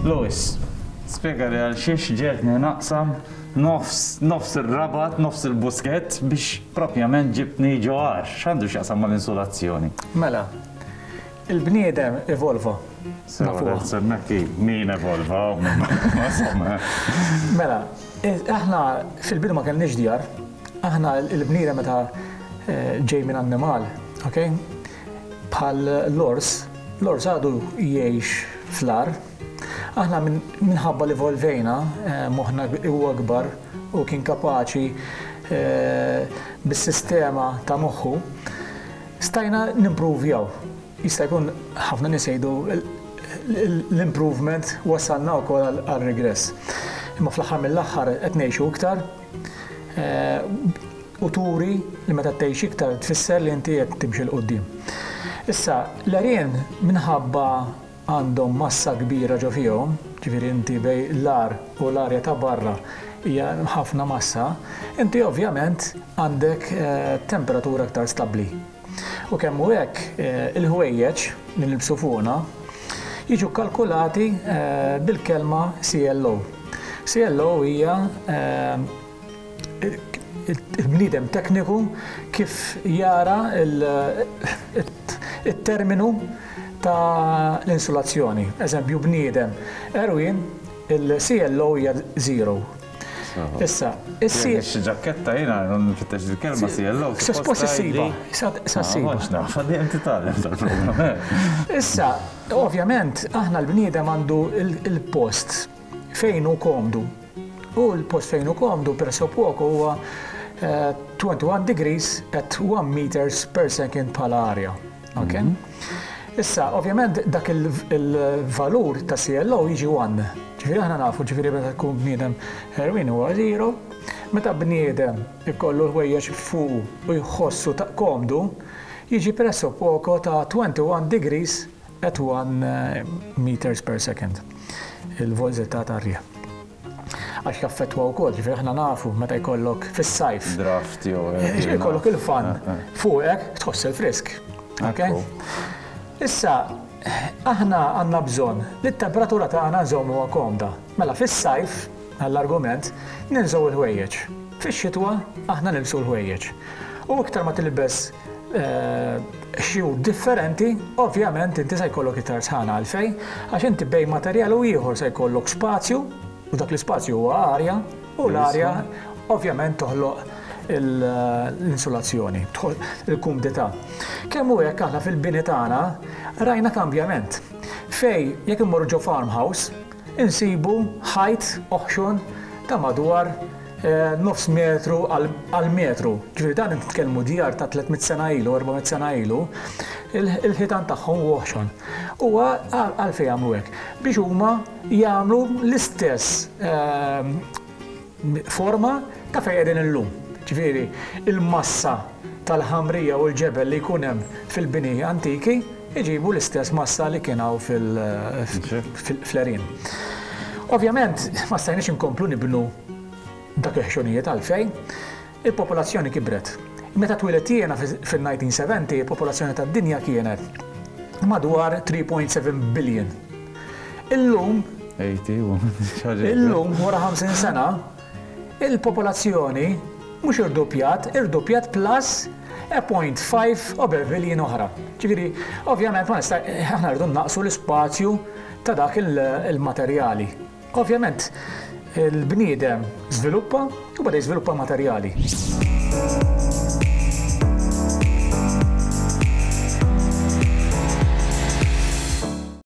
Louis, spjegali għal xiex ġegħeltni naqsam nofs nofs ir-Rabat, nofs il-Buskett biex propjament ġibtni ġo għar. X'għandu x'jaqsam mal-insulazzjoni? Mela, il-bniedem evolva. Sewa, semmek min evolva, insomma. Mela, aħna fil-bidu ma kellniex djar. Aħna l-bniedem meta ġej minn annimal, ok? Bħal l-ors, l-ors għadu jgħix fl-għar. Aħna minħabba li evolvejna, moħħna huwa akbar u kien kapaċi bis-sistema ta' moħħu, stajna nimpruvjaw. Jista' jkun ħafna nies jgħidu l-improvement wassalna wkoll għal regress. Imma fl-aħħar mill-aħħar qed ngħixu iktar u turi li meta tgħix iktar tfisser li inti qed timxi 'l quddiem. Issa, l-għerien minħabba għandhom massa kbira ġo fihom, ġifieri inti bejn l-għar u l-arja ta' barra hija ħafna massa, inti ovvjament għandek temperatura iktar stabbli. U kemm hu hekk, il-ħwejjeġ li nilbsu fuqna jiġu kkalkulati bil-kelma CLO. CLO hija il-bniedem tekniku kif jara il-terminu ta' l-insulazzjoni. Eżempju, bniedem għerwien, il-CLO hija zero. Issa, is-C. Xi ġakketta jiena nfittex il-kelma CLO. Suppost issibha. Sa ssibha. Naf, għaddi titgħallem tal-programm. Issa, ovvjament, aħna l-bniedem għandu il-post fejn hu komdu. U l-post fejn hu komdu presso poco huwa 21 degrees at 1 meters per second bħala arja. Ok? Issa, ovvjament, dak il-valur ta' CLO jiġi 1. Ġifieri aħna nafu, ġifieri meta tkun bniedem għerwien huwa 0, meta bniedem ikollu l-ħwejjeġ fuqu u jħossu ta' komdu, jiġi presso poco ta' 21 degrees at 1 meters per second il-volżità tar-riħ. Għax jaffettwa wkoll, ġifieri aħna nafu meta jkollok fis-sajf. Draft jew. Ikollok il-fan fuqek tħoss il-frisk. Ok? Issa, aħna għandna bżonn li t-temperatura tagħna nżommuha komda. Mela fis-sajf, għall-argument, ninżgħu l-ħwejjeġ. Fix-xitwa aħna nilbsu l-ħwejjeġ. U iktar ma tilbes xjur differenti, ovvjament inti se jkollok iktar sħana għalfejn, għax inti bejn materjal u ieħor se jkollok spazju, u dak l-ispazju huwa arja, u l-arja ovvjament toħloq l-insulazzjoni, il-kumdità. Kemm hu hekk aħna fil-bini tagħna rajna kambjament. Fej jekk immorru ġo farmhouse, insibu ħajt oħxon ta' madwar nofs metru għal metru. Ġifieri dan nitkellmu djar ta' 300 sena ilu, 400 sena ilu, il-ħitan tagħhom huwa oħxon. Huwa għalfejn jagħmlu hekk? Biex huma jagħmlu l-istess forma ta' fejn qegħdin illum. Ġifieri il-massa tal-ħamrija u l-ġebel li jkun hemm fil-bini antiki iġibu l-istess massa li kien hawn fil-għerien. Ovvjament, ma stajniex inkomplu nibnu dak il-ħxunijiet għalfejn il-popolazzjoni kibret. Meta twilidt jiena fil-1970, il-popolazzjoni tad-dinja kienet madwar 3.7 billion. Illum, illum wara 50 sena, il-popolazzjoni mhux irduppjat, irduppjat plus a 0.5 over billion oħra. Ġifieri, ovvjament ma nista' aħna rridu naqsu l-ispazju ta' dak il-materjali. Ovvjament, il-bniedem żviluppa u beda jiżviluppa materjali.